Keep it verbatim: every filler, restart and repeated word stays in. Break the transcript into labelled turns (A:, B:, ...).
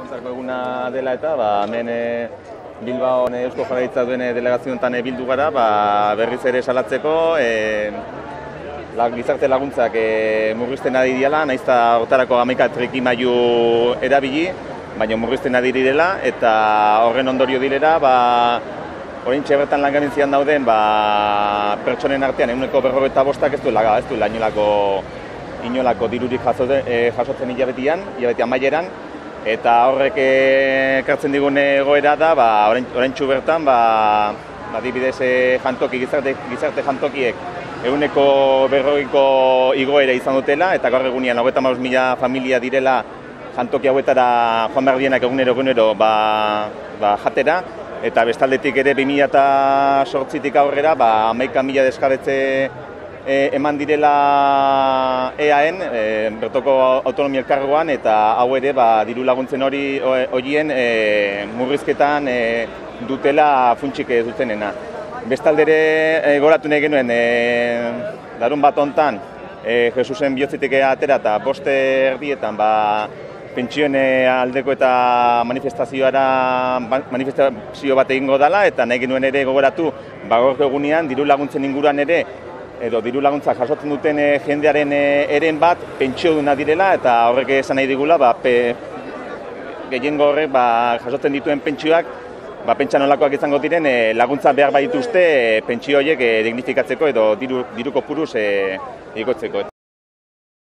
A: laguntzako eguna dela eta ba, hemen e, Bilbaon Eusko Jaurlaritza duen delegazio honetan bildu gara, ba, berriz ere salatzeko e, la, gizarte laguntzak e, murrizten ari diela, nahiz eta hortarako hamaika trikimailu erabili, baina murrizten ari direla eta horren ondorio direla, ba, oraintxe bertan langabentzian dauden ba, pertsonen artean ehuneko berrogeita bostak ez duela, ez duela inolako, inolako dirurik jasoten, e, jasotzen hilabetian, hilabeti amaieran, eta horrek ekartzen digun egoera da, ba, oraintxu bertan, ba, adibidez jantoki, gizarte, gizarte jantokiek ehuneko berrogeiko igoera izan dutela, eta gaur egunean hogeita hamabost mila familia direla jantoki hauetara joan behar dienak egunero egunero ba, ba, jatera, eta bestaldetik ere bi mila zortzitik aurrera ba, hamaika mila desjabetze e, eman direla E A N, e, bertoko autonomia elkargoan, eta hau ere ba, diru laguntzen hori horien e, murrizketan e, dutela funtsik dutenena. Bestaldere e, goratu nahi genuen, e, larun bat hontan, e, Jesusen bihotzetik atera eta boste erdietan ba, pentsioen aldeko eta manifestazioara manifestazio bat egingo dela, eta nahi genuen ere gogoratu ba, gaur egunean diru laguntzen inguruan ere edo diru laguntza jasotzen duten e, jendearen e, eren bat pentsioduna direla, eta horrek esan nahi digula ba, pe, gehiengo horrek ba, jasotzen dituen pentsioak ba, pentsa nolakoak izango diren e, laguntza behar badituzte e, pentsio horiek e, dignifikatzeko edo diru, diruko puruz e, igotzeko.